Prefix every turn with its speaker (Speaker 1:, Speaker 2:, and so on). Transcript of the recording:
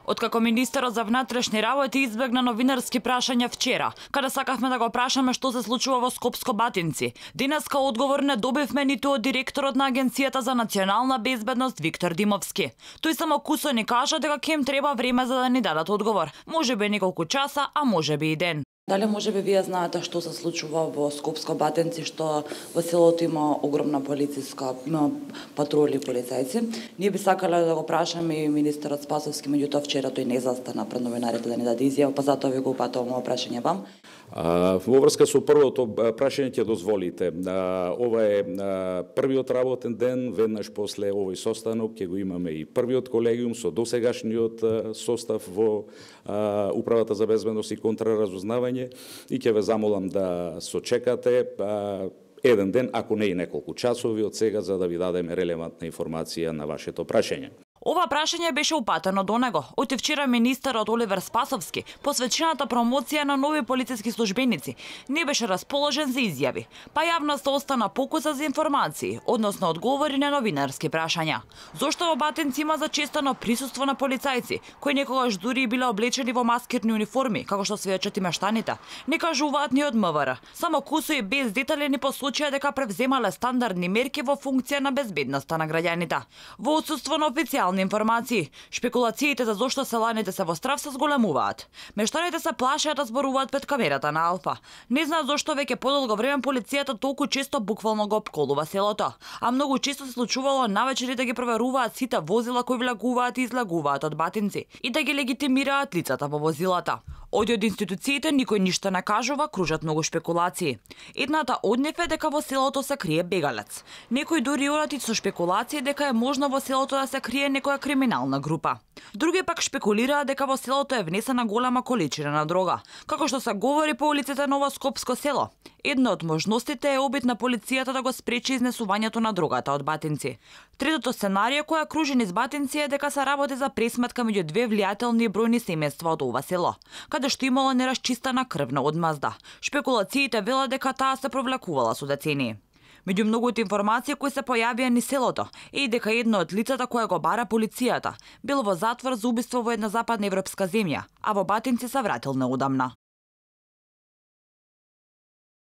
Speaker 1: Откако министерот за внатрешни работи избегна новинарски прашања вчера, каде сакавме да го прашаме што се случува во Скопско-Батинци, денеска одговор не добивме ниту од директорот на Агенцијата за национална безбедност Виктор Димовски. Тој само кусо ни кажа дека ќе им треба време за да ни дадат одговор. Можеби неколку часа, а можеби и ден.
Speaker 2: Дали можеби вие знаете што се случува во Скопско-Батинци, што во селото има огромна полициска патрули полицајци? Ние би сакале да го прашаме и министерот Спасовски, меѓутоа вчера тој не застана пред новинарите да ни даде изјава, па затоа ви го упатувам ова прашање вам.
Speaker 3: Во врска со првото прашање ќе дозволите. Ова е првиот работен ден, веднаш после овој состанок ќе го имаме и првиот колегиум со досегашниот состав во Управата за безбедност и контраразузнавање и ќе ве замолам да сочекате еден ден, ако не и неколку часови од сега, за да ви дадеме релевантна информација на вашето прашање.
Speaker 1: Ова прашање беше упатено до него. Од вчера министерот Оливер Спасовски, посветената промоција на нови полициски службеници, не беше расположен за изјави, па јавноста остана покуса за информации, односно одговори на новинарски прашања. Зошто во Батинци има зачестено присуство на полицајци, кои некогаш дури биле облечени во маскирни униформи, како што сведочат и мештаните? Не кажуваат ни од МВР. Само кусо и без детали ни посочија дека превземале стандардни мерки во функција на безбедноста на граѓаните. Во отсуство на официјални информации, шпекулациите за зошто селаните се во страв се зголемуваат. Мештаните се плашат да зборуваат пред камерата на Алфа. Не знаат зошто веќе подолго време полицијата толку често буквално го опколува селото, а многу често се случувало навечери да ги проверуваат сите возила кои влегуваат и излегуваат од Батинци и да ги легитимираат лицата во возилата. Од институциите никој ништо не кажува, кружат многу шпекулации. Едната од нив е дека во селото се крие бегалец. Некои дури одат и со шпекулации дека е можно во селото да се крие некоја криминална група. Други пак шпекулираат дека во селото е внесена голема количина на дрога, како што се говори по улиците на Скопско село. Една од можностите е обид на полицијата да го спречи изнесувањето на дрогата од Батинци. Третото сценарио која кружи низ Батинци е дека се работи за пресметка меѓу две влијателни и бројни семејства од ова село, каде што имало нерасчистена крвна одмазда. Шпекулациите велат дека таа се провлекувала со децении. Меѓу многуте информации кои се појавија низ селото е и дека едно од лицата кое го бара полицијата било во затвор за убиство во една западна европска земја, а во Батинци се вратил неодамна.